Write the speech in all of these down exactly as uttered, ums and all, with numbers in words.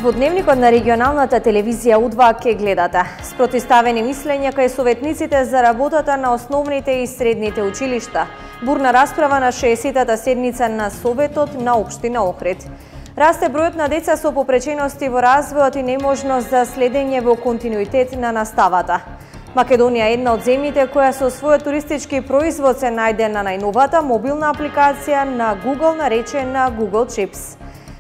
Во дневникот на регионалната телевизија У два ке гледате спротивставени мислења кај советниците за работата на основните и средните училишта, бурна расправа на шеесеттата седница на Советот на општина Охрид. Расте бројот на деца со попречености во развојот и неможност за следење во континуитет на наставата. Македонија е една од земјите која со својот туристички производ се најде на најновата мобилна апликација на Google наречена Google Chips.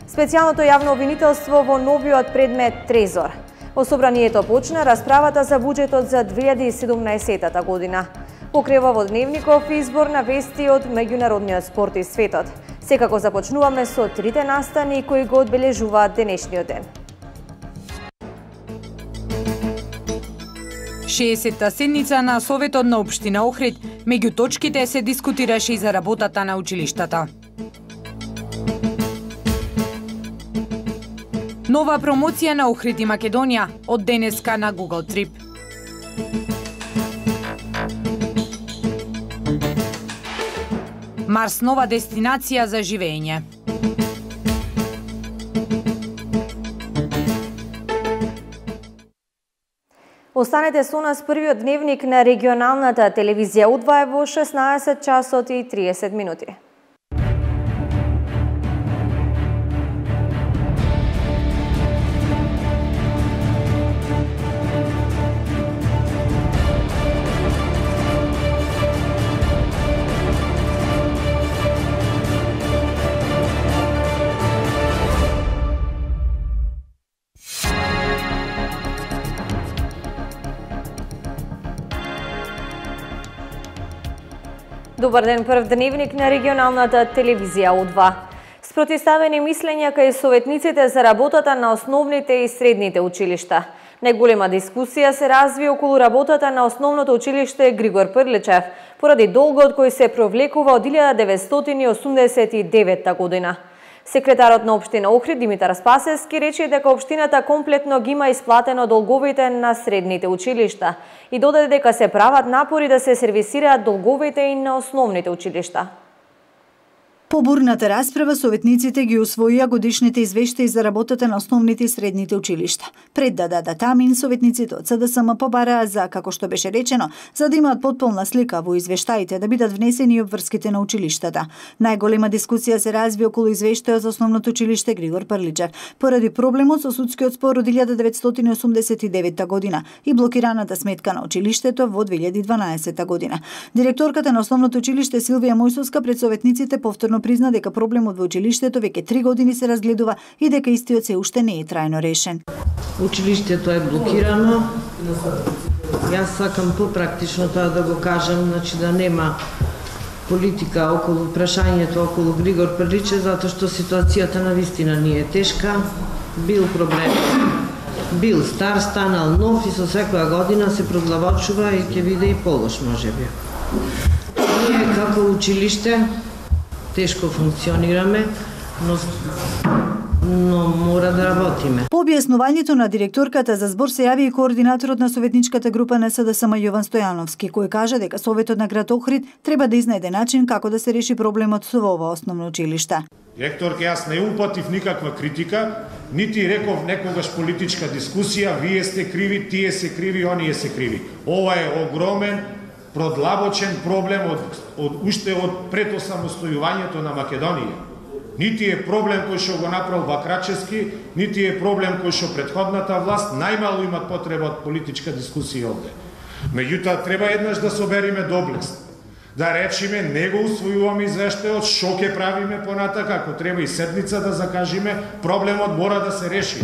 Специјалното јавно обвинителство во новиот предмет Трезор. Во собранието почна расправата за буџетот за две илјади и седумнаесетта година. Покрива во дневников избор на вести од меѓународниот спорт и светот. Секако започнуваме со трите настани кои го одбележуваат денешниот ден. шеесетта седница на Советот на општина Охрид, меѓу точките се дискутираше и за работата на училиштата. Нова промоција на Охрид и Македонија од денеска на Google Trip. Марс нова дестинација за живење. Останете со нас, првиот дневник на регионалната телевизија У два е во шеснаесет часот и триесет минути. Добар ден, прв дневник на регионалната телевизија У два. Спротивставени мислења кај советниците за работата на основните и средните училишта. Најголема дискусија се разви околу работата на основното училиште Григор Прличев, поради долгот кој се провлекува од илјада деветстотини и осумдесет и деветта година. Секретарот на општина Охрид Димитар Спасевски рече дека општината комплетно ги има исплатено долговите на средните училишта и додаде дека се прават напори да се сервисираат долговите и на основните училишта. По бурната расправа, советниците ги усвоија годишните извештаи за работата на основните и средните училишта. Пред да дадат амин, советниците од С Д С М побараа за, како што беше речено, за да имаат потполна слика во извештаите да бидат внесени и обврските на училиштата. Најголема дискусија се разви околу извештајот за основното училиште Григор Прличев, поради проблемот со судскиот спор од илјада деветстотини и осумдесет и деветта година и блокираната сметка на училиштето во две илјади и дванаесетта година. Директорката на основното училиште Силвија Мојсовска пред советниците повторно призна дека проблемот во училиштето веќе три години се разгледува и дека истиот се уште не е трајно решен. Училиштето е блокирано. Јас сакам попрактично тоа да го кажам, значи да нема политика околу прашањето околу Григор Прличев, затоа што ситуацијата на вистина не е тешка. Бил проблем. Бил стар, станал нов и со секоја година се проглавочува и ќе биде и полош можеби. Ние како училиште тешко функционираме, но, но мора да работиме. По објаснувањето на директорката за збор се јави и координаторот на советничката група на С Д С М Јован Стојановски, кој кажа дека Советот на град Охрид треба да изнајде начин како да се реши проблемот со ова основно училиште. Директорке, јас не упатив никаква критика, нити реков некогаш политичка дискусија, вие сте криви, тие се криви, оние се криви. Ова е огромен продлабочен проблем од, од уште од пред осамостојувањето на Македонија. Нити е проблем кој што го направил Бакрачевски, нити е проблем кој што претходната власт, најмало имат потреба од политичка дискусија овде. Меѓутоа треба еднаш да собериме доблест, да речиме не го усвојуваме извештајот, што ќе правиме понатака, ако треба и седница да закажиме, проблемот мора да се реши.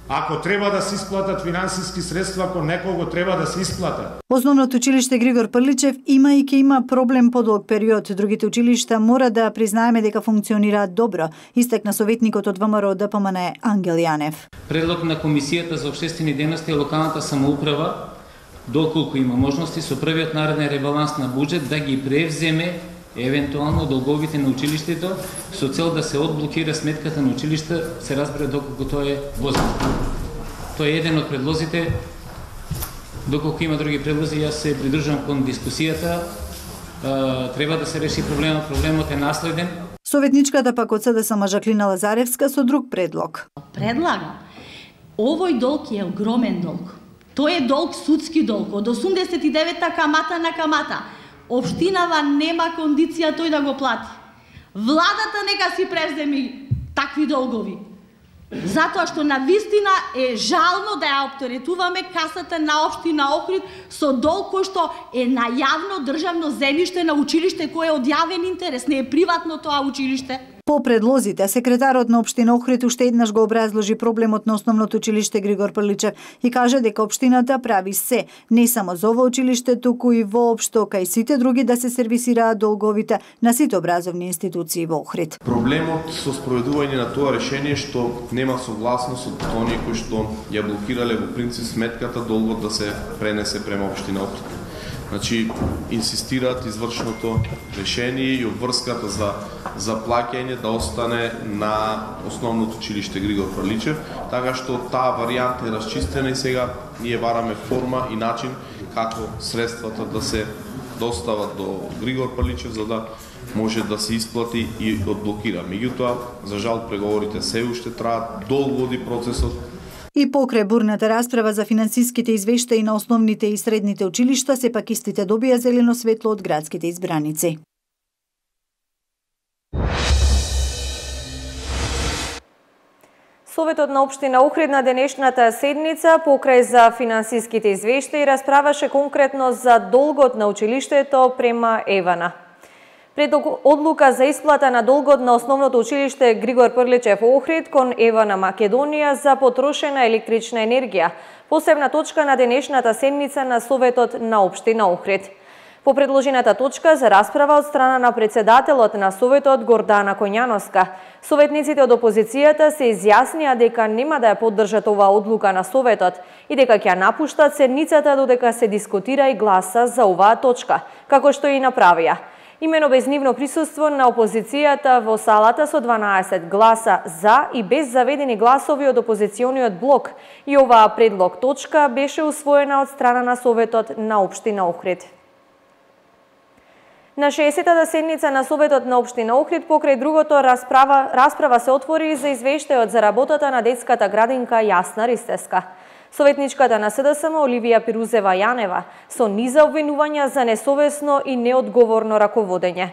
Ако треба да се исплатат финансиски средства, ако некого треба да се исплатат. Основното училиште Григор Прличев има и ќе има проблем подолг период. Другите училишта мора да признаеме дека функционираат добро, истакна советникот од В М Р Д П М Н Ангел Јанев. Предлог на Комисијата за општествени дејности и локалната самоуправа, доколку има можности со првиот нареден ребаланс на буџет да ги превземе евентуално долговите на училиштето со цел да се одблокира сметката на училиште, се разбира доколку тоа е возможно. Тоа е еден од предлозите. Доколку има други предлози, јас се придружувам кон дискусијата. Треба да се реши проблемот. Проблемот е наследен. Советничката пак од СДСМ Жаклина Лазаревска со друг предлог. Предлагам, овој долг е огромен долг. Тој е долг, судски долг, од осумдесет и девета камата на камата. Општинава нема кондиција тој да го плати. Владата нека си превземи такви долгови. Затоа што на вистина е жално да ја оптеретуваме касата на општина Охрид со долг кој што е на јавно државно земјиште на училиште кое е од јавен интерес, не е приватно тоа училиште. По предлозите, секретарот на општина Охрид уште еднаш го образложи проблемот на основното училиште Григор Прличев и кажа дека општината прави се, не само за ова училиште, туку и воопшто кај сите други да се сервисираат долговите на сите образовни институции во Охрид. Проблемот со спроведување на тоа решение што нема согласност од оние кои што ја блокирале во принцип сметката долгот да се пренесе према општина Охрид. Значи, инсистираат извршното решение и обврската за, за плаќање да остане на основното училиште Григор Прличев, така што таа варијанта е расчистена и сега ние бараме форма и начин како средствата да се достават до Григор Прличев за да може да се исплати и одблокира. Меѓутоа, за жал, преговорите се уште траат, долго оди процесот. И покрај бурната расправа за финансиските извештаи на основните и средните училишта, сепак истите добија зелено светло од градските избраници. Советот на општина Охрид на денешната седница покрај за финансиските извештаи расправаше конкретно за долгот на училиштето према Евана. Пред одлука за исплата на долгот на основното училиште Григор Прличев Охрид кон Евана Македонија за потрошена електрична енергија, посебна точка на денешната седница на Советот на општина Охрид. По предложената точка за расправа од страна на председателот на Советот Гордана Коњановска, советниците од опозицијата се изјаснија дека нема да ја поддржат оваа одлука на Советот и дека ќе ја напуштат седницата додека се дискутира и гласа за оваа точка, како што и направија. Имено без нивно присуство на опозицијата во салата со дванаесет гласа за и без заведени гласови од опозициониот блок, и оваа предлог точка беше усвоена од страна на Советот на општина Охрид. На шеесеттата седница на Советот на општина Охрид покрај другото расправа, расправа се отвори за извештајот за работата на детската градинка Јасна Ристеска. Советничката на СДСМ Оливија Пирузева Јанева со низа обвинувања за несовесно и неодговорно раководење.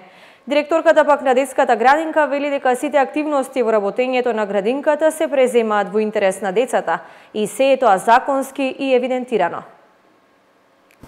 Директорката пак на детската градинка вели дека сите активности во работењето на градинката се преземаат во интерес на децата и се е тоа законски и евидентирано.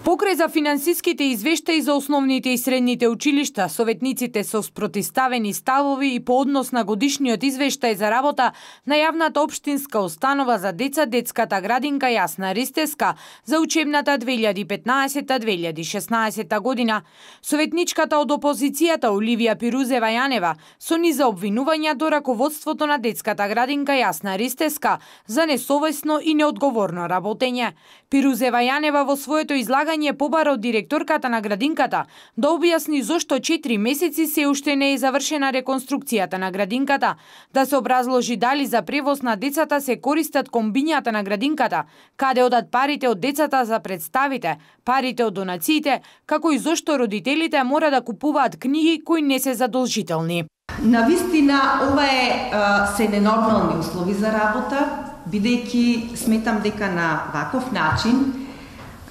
Покрај за финансиските извештаи за основните и средните училишта, советниците со спротивставени ставови и по однос на годишниот извештај за работа на јавната општинска установа за деца детската градинка Јасна Ристеска за учебната две илјади и петнаесета две илјади и шеснаесета година, советничката од опозицијата Оливија Пирузева Јанева со низа обвинувања до раководството на детската градинка Јасна Ристеска за несовесно и неодговорно работење. Пирузева Јанева во своето излагање побара од директорката на градинката да објасни зошто четири месеци се уште не е завршена реконструкцијата на градинката, да се образложи дали за превоз на децата се користат комбињата на градинката, каде одат парите од децата за представите, парите од донациите, како и зошто родителите мора да купуваат книги кои не се задолжителни. Навистина, ова е а, се ненормални услови за работа, бидејќи сметам дека на ваков начин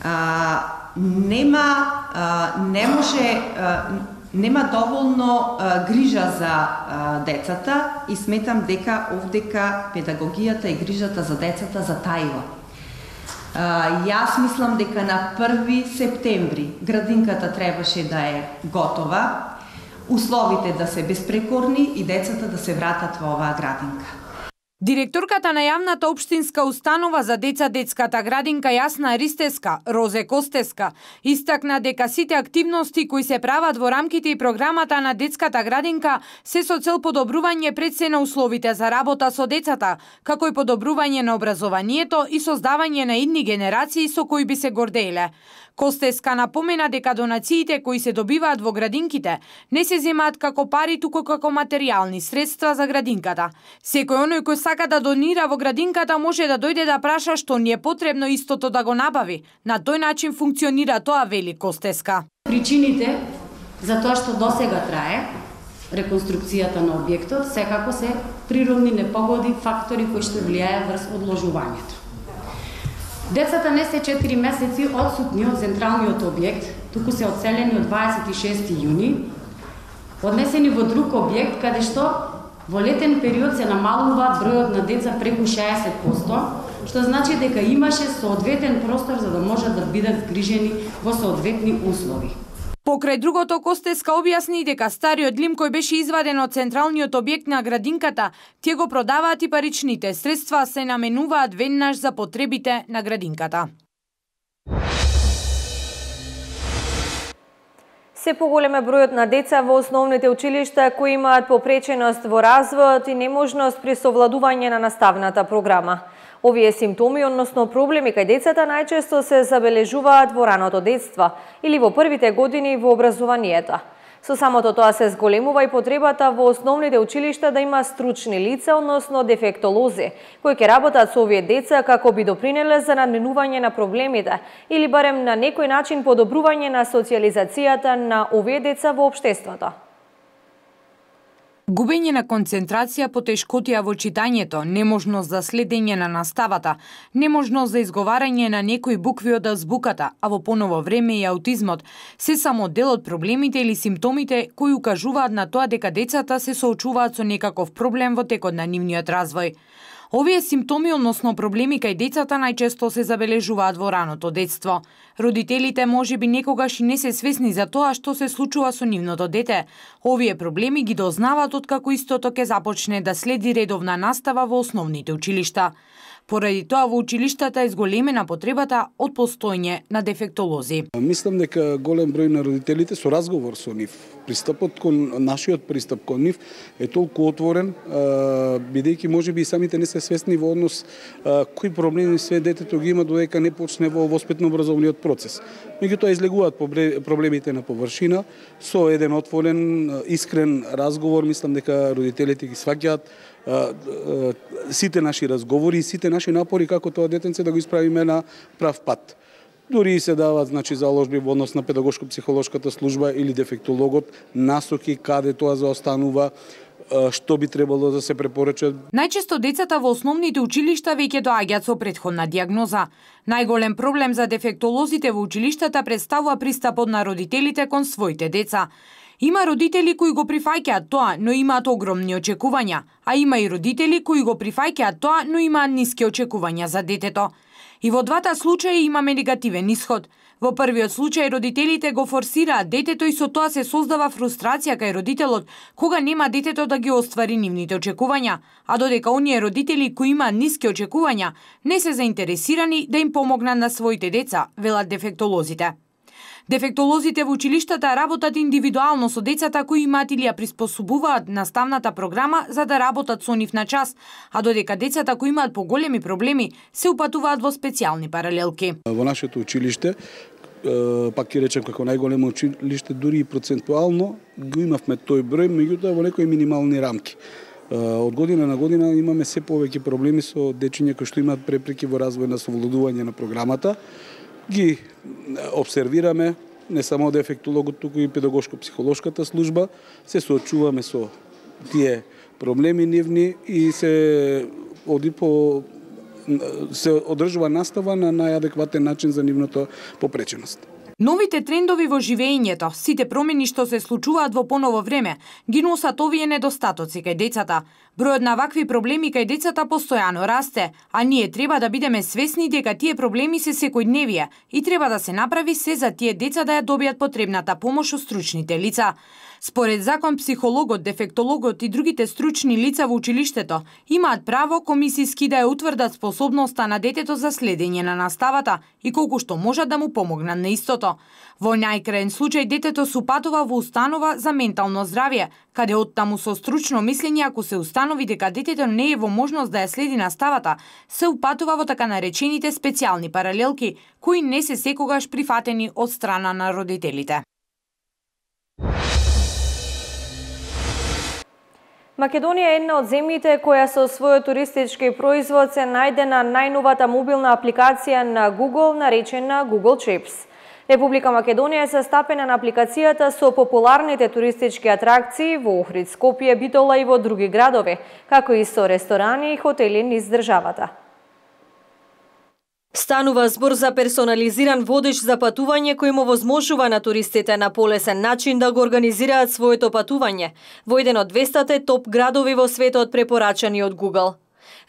а, нема а, не може а, нема доволно а, грижа за а, децата и сметам дека овдека педагогијата и грижата за децата затаила. А, јас мислам дека на први септември градинката требаше да е готова, условите да се безпрекорни и децата да се вратат во оваа градинка. Директорката на јавната општинска установа за деца детската градинка Јасна Ристеска, Розе Костеска, истакна дека сите активности кои се прават во рамките и програмата на детската градинка се со цел подобрување пред се на условите за работа со децата, како и подобрување на образованието и создавање на идни генерации со кои би се гордееле. Костеска напомена дека донациите кои се добиваат во градинките не се земаат како пари, туку како материјални средства за градинката. Секој оној кој сака да донира во градинката може да дојде да праша што ни е потребно истото да го набави. На тој начин функционира тоа, вели Костеска. Причините за тоа што досега трае реконструкцијата на објектот, секако се природни непогоди, фактори кои што влијаат врз одложувањето. Децата не се четири месеци одсутни од централниот објект, туку се одселени од дваесет и шести јуни, однесени во друг објект, каде што во летен период се намалува бројот на деца преку шеесет проценти, што значи дека имаше соодветен простор за да можат да бидат згрижени во соодветни услови. Покрај другото, Костеска објасни дека стариот лим кој беше изваден од централниот објект на градинката, тие го продаваат и паричните средства се наменуваат веднаш за потребите на градинката. Се поголем е бројот на деца во основните училишта кои имаат попреченост во развојот и неможност при совладување на наставната програма. Овие симптоми, односно проблеми кај децата, најчесто се забележуваат во раното детство или во првите години во образованието. Со самото тоа се зголемува и потребата во основните училишта да има стручни лица, односно дефектолози, кои ќе работат со овие деца како би допринеле за надминување на проблемите или барем на некој начин подобрување на социјализацијата на овие деца во општеството. Губење на концентрација, потешкотија во читањето, неможност за следење на наставата, неможност за изговарање на некои букви од азбуката, а во поново време и аутизмот, се само дел од проблемите или симптомите кои укажуваат на тоа дека децата се соочуваат со некаков проблем во текот на нивниот развој. Овие симптоми, односно проблеми кај децата, најчесто се забележуваат во раното детство. Родителите можеби некогаш и не се свесни за тоа што се случува со нивното дете. Овие проблеми ги дознаваат откако истото ќе започне да следи редовна настава во основните училишта. Поради тоа во училиштата е зголемена потребата од постојање на дефектолози. Мислам дека голем број на родителите со разговор со нив, пристапот кон нашиот пристап кон нив е толку отворен, бидејќи можеби и самите не се свесни во однос кои проблеми све детето ги има додека не почне во воспитно-образовниот процес. Меѓутоа излегуваат проблемите на површина со еден отворен, искрен разговор. Мислам дека родителите ги сваќаат сите наши разговори и сите наши напори како тоа детенце да го исправиме на прав пат. Дури и се дават, значи, заложби во однос на педагошко-психолошката служба или дефектологот, насоки каде тоа заостанува, што би требало да се препорача. Најчесто децата во основните училишта веќе доаѓаат со претходна диагноза. Најголем проблем за дефектолозите во училиштата представува пристапот на родителите кон своите деца. Има родители кои го прифаќаат тоа, но имаат огромни очекувања, а има и родители кои го прифаќаат тоа, но имаат ниски очекувања за детето. И во двата случаи имаме негативен исход. Во првиот случај родителите го форсираат детето и со тоа се создава фрустрација кај родителот кога нема детето да ги оствари нивните очекувања, а додека оние родители кои имаат ниски очекувања не се заинтересирани да им помогнат на своите деца, велат дефектолозите. Дефектолозите во училиштата работат индивидуално со децата кои имаат или ја приспособуваат наставната програма за да работат со нив на час, а додека децата кои имаат поголеми проблеми се упатуваат во специјални паралелки. Во нашето училиште, пак ќе речем како најголемо училиште, дури и процентуално го имавме тој број, меѓутоа во некои минимални рамки. Од година на година имаме се повеќе проблеми со дечиња кои што имаат препреки во развој на совладување на програмата. Ги обсервираме, не само дефектологот, туку и педагошко-психолошката служба, се соочуваме со тие проблеми нивни и се оди по се одржува настава на најадекватен начин за нивната попреченост. Новите трендови во живеењето, сите промени што се случуваат во поново време, ги носат овие недостатоци кај децата. Бројот на вакви проблеми кај децата постојано расте, а ние треба да бидеме свесни дека тие проблеми се секојдневие и треба да се направи се за тие деца да ја добијат потребната помош од стручните лица. Според закон, психологот, дефектологот и другите стручни лица во училиштето имаат право комисиски да ја утврдат способноста на детето за следење на наставата и колку што можат да му помогнат на истото. Во најкраен случај детето се упатува во установа за ментално здравје, каде оттаму со стручно мислење, ако се установи дека детето не е во можност да ја следи наставата, се упатува во така наречените специјални паралелки, кои не се секогаш прифатени од страна на родителите. Македонија е една од земјите која со својот туристички производ се најде на најновата мобилна апликација на Google, наречена Google Trips. Република Македонија е састапена на апликацијата со популарните туристички атракции во Охрид, Скопје, Битола и во други градови, како и со ресторани и хотели низ државата. Станува збор за персонализиран водеж за патување кој му возможува на туристите на полесен начин да го организираат своето патување во еден од двестотте топ градови во светот препорачани од Google.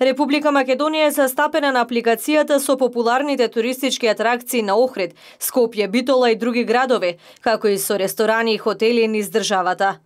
Република Македонија е застапена на апликацијата со популарните туристички атракции на Охрид, Скопје, Битола и други градови, како и со ресторани и хотели низ државата.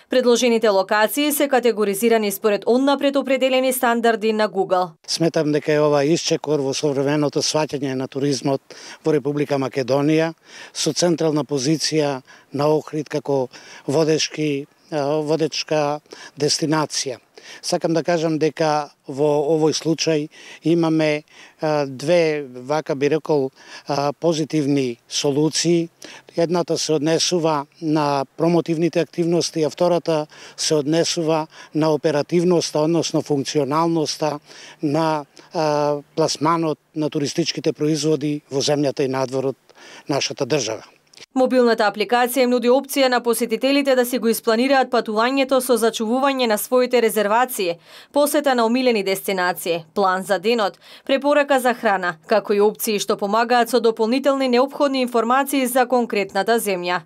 Предложените локации се категоризирани според однапред определени стандарди на Google. Сметам дека е ова исчекор во современото сваќање на туризмот во Република Македонија со централна позиција на Охрид како водечки водечка дестинација. Сакам да кажам дека во овој случај имаме а, две, вака би рекол, а, позитивни солуции. Едната се однесува на промотивните активности, а втората се однесува на оперативноста, односно функционалноста на а, пласманот на туристичките производи во земјата и надвор од нашата држава. Мобилната апликација им нуди опција на посетителите да си го испланираат патувањето со зачувување на своите резервации, посета на омилени дестинации, план за денот, препорака за храна, како и опции што помагаат со дополнителни неопходни информации за конкретната земја.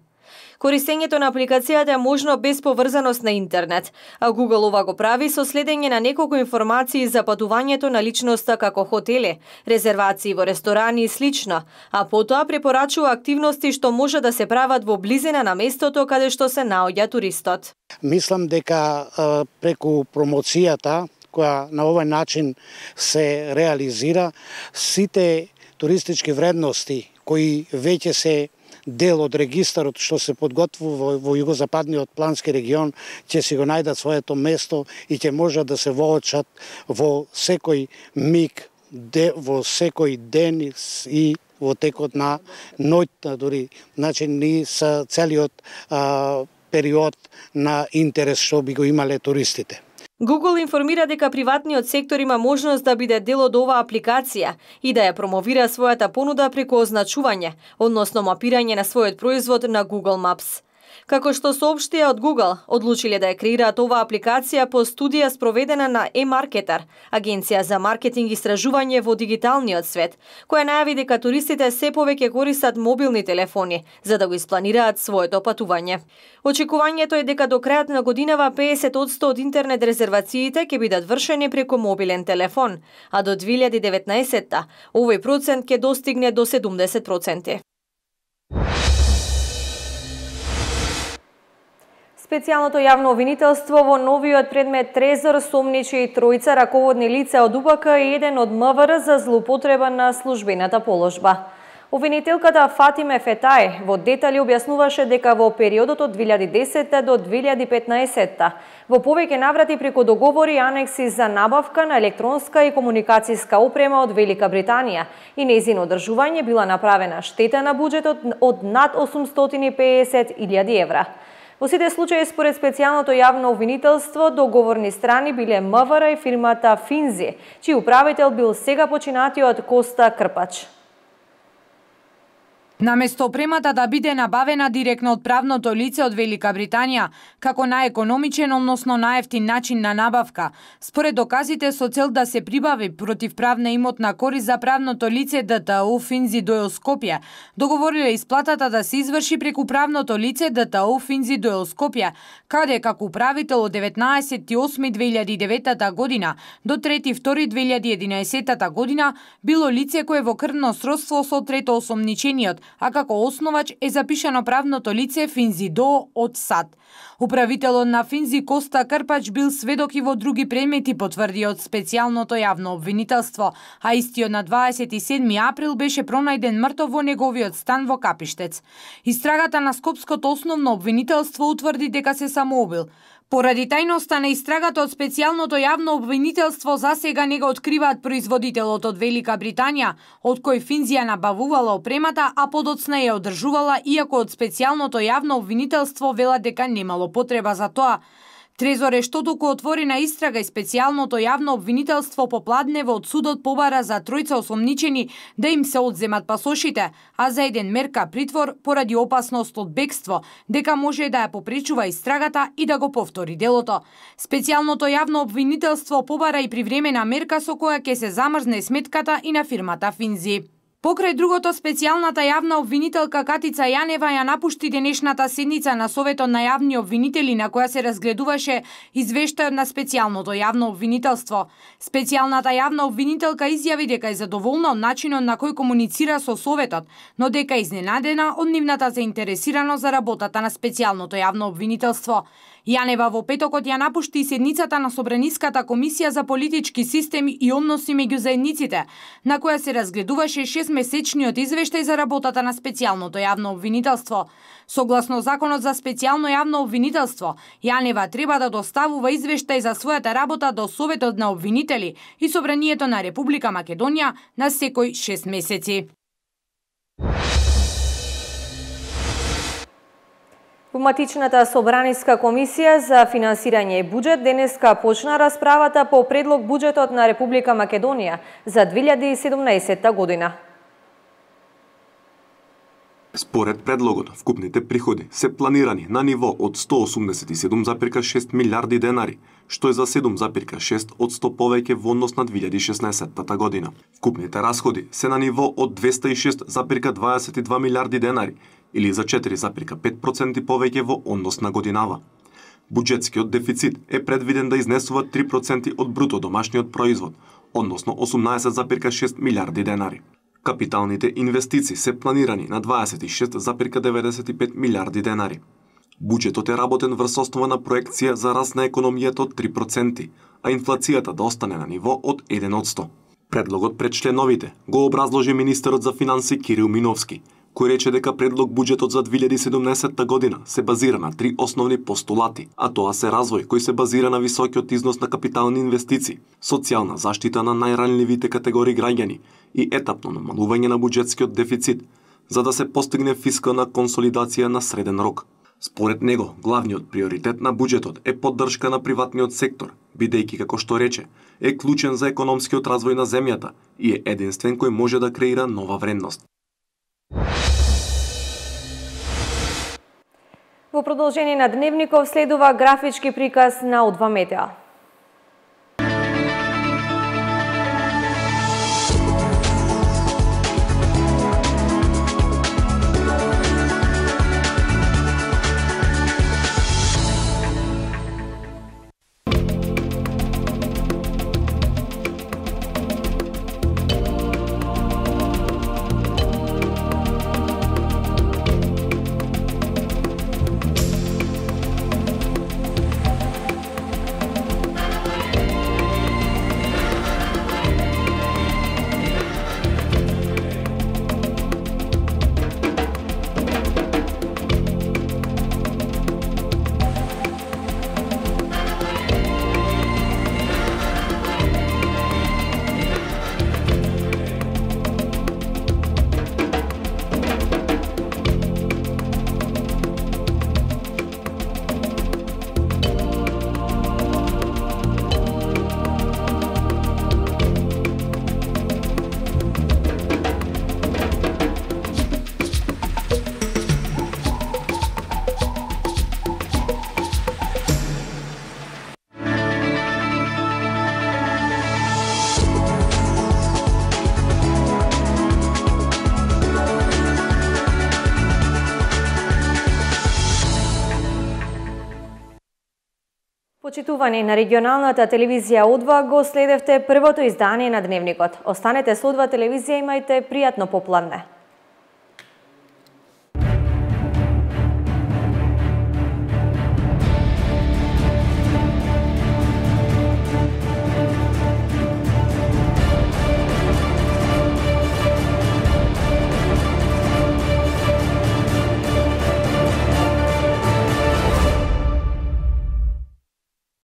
Користењето на апликацијата е можно без поврзаност на интернет, а Google ова го прави со следење на неколку информации за патувањето на личноста како хотели, резервации во ресторани и слично, а потоа препорачува активности што може да се прават во близина на местото каде што се наоѓа туристот. Мислам дека а, преку промоцијата која на овој начин се реализира, сите туристички вредности кои веќе се дел од регистарот што се подготвува во, во југозападниот плански регион ќе си го најдат своето место и ќе можат да се воочат во секој миг, де, во секој ден и во текот на ноќта дури. Значи ни са целиот а, период на интерес што би го имале туристите. Google информира дека приватниот сектор има можност да биде дел од оваа апликација и да ја промовира својата понуда преку означување, односно мапирање на својот производ на Google Maps. Како што соопштија од Google, одлучиле да ја креираат оваа апликација по студија спроведена на eMarketer, агенција за маркетинг и истражување во дигиталниот свет, која најави дека туристите се повеќе користат мобилни телефони за да го испланираат своето патување. Очекувањето е дека до крајот на годинава песет одсто од интернет резервациите ќе бидат вршени преку мобилен телефон, а до две илјади и деветнаесетта овој процент ќе достигне до седумдесет проценти. Специјалното јавно обвинителство во новиот предмет Трезор сомничи и тројца раководни лица од У П К и еден од М В Р за злоупотреба на службената положба. Обвинителката Фатиме Фетај во детали објаснуваше дека во периодот од две илјади и десетта до две илјади и петнаесетта во повеќе наврати преку договори и анекси за набавка на електронска и комуникацијска опрема од Велика Британија и нејзино одржување била направена штета на буџетот од над осумстотини и песет илјади евра. Во сите случаи, според специјалното јавно обвинителство, договорни страни биле М В Р и фирмата Финзи, чиј управител бил сега починатиот Коста Крпач. Наместо опремата да биде набавена директно од правното лице од Велика Британија, како најекономичен, односно најевтин начин на набавка, според доказите со цел да се прибави противправна имотна корист за правното лице Д Т У Финзи Дойл Скопје, договориле исплатата да се изврши преку правното лице Д Т У Финзи Дойл Скопје, каде како управител од деветнаесети осми две илјади и деветта година до трети втори две илјади и единаесетта година било лице кое во крвно сродство со трето осомничениот, а како основач е запишано правното лице Финзи До од САД. Управителот на Финзи Коста Крпач бил сведок и во други предмети, потврди од специјалното јавно обвинителство, а истиот на дваесет и седми април беше пронајден мртов во неговиот стан во Капиштец. Истрагата на Скопското основно обвинителство утврди дека се самоубил. Поради тајноста на истрагата од специјалното јавно обвинителство засега не го откриваат производителот од Велика Британија, од кој Финзи ја набавувала опремата, а подоцна ја одржувала, иако од специјалното јавно обвинителство велат дека немало потреба за тоа. Трезор Ештотоку отворена истрага и специјалното јавно обвинителство по Пладнево од судот побара за тројца осомничени да им се одземат пасошите, а за еден мерка притвор поради опасност од бегство, дека може да ја попречува истрагата и да го повтори делото. Специјалното јавно обвинителство побара и привремена мерка со која ќе се замрзне сметката и на фирмата Финзи. Покрај другото, специјалната јавна обвинителка Катица Јанева ја напушти денешната седница на Советот на јавни обвинители на која се разгледуваше извештајот на специјалното јавно обвинителство. Специјалната јавна обвинителка изјави дека е задоволна од начинот на кој комуницира со Советот, но дека е изненадена од нивната заинтересираност за работата на специјалното јавно обвинителство. Јанева во петокот ја напушти седницата на Собраниската комисија за политички системи и односи меѓу заедниците, на која се разгледуваше шестмесечниот извештај за работата на специјалното јавно обвинителство. Согласно Законот за специјално јавно обвинителство, Јанева треба да доставува извештај за својата работа до Советот на обвинители и Собранието на Република Македонија на секој шест месеци. Во матичната Собраниска комисија за финансирање и буџет денеска почна расправата по предлог буџетот на Република Македонија за две илјади и седумнаесетта година. Според предлогот, вкупните приходи се планирани на ниво од сто осумдесет и седум зарез и шест милиарди денари, што е за седум зарез и шест одсто повеќе во однос на две илјади и шеснаесетта година. Вкупните расходи се на ниво од двеста и шест зарез дваесет и два милиарди денари, или за четири зарез и пет проценти повеќе во однос на годинава. Буџетскиот дефицит е предвиден да изнесува три проценти од бруто домашниот производ, односно осумнаесет зарез и шест милиарди денари. Капиталните инвестиции се планирани на дваесет и шест зарез деветдесет и пет милиарди денари. Буџетот е работен врз основа на проекција за раст на економијата од три проценти, а инфлацијата да остане на ниво од еден одсто. Предлогот пред членовите го образложи министерот за финанси Кирил Миновски, кој рече дека предлог буџетот за две илјади и седумнаесетта година се базира на три основни постулати, а тоа се развој кој се базира на високиот износ на капитални инвестиции, социјална заштита на најранливите категории граѓани и етапно намалување на буџетскиот дефицит, за да се постигне фискална консолидација на среден рок. Според него, главниот приоритет на буџетот е поддршка на приватниот сектор, бидејќи, како што рече, е клучен за економскиот развој на земјата и е единствен кој може да креира нова вредност. Во продолжение на Дневников следува графички приказ на Удва Метеа. Почитувани, на регионалната телевизија Удва го следевте првото издание на Дневникот. Останете со Удва телевизија, имајте пријатно попладне.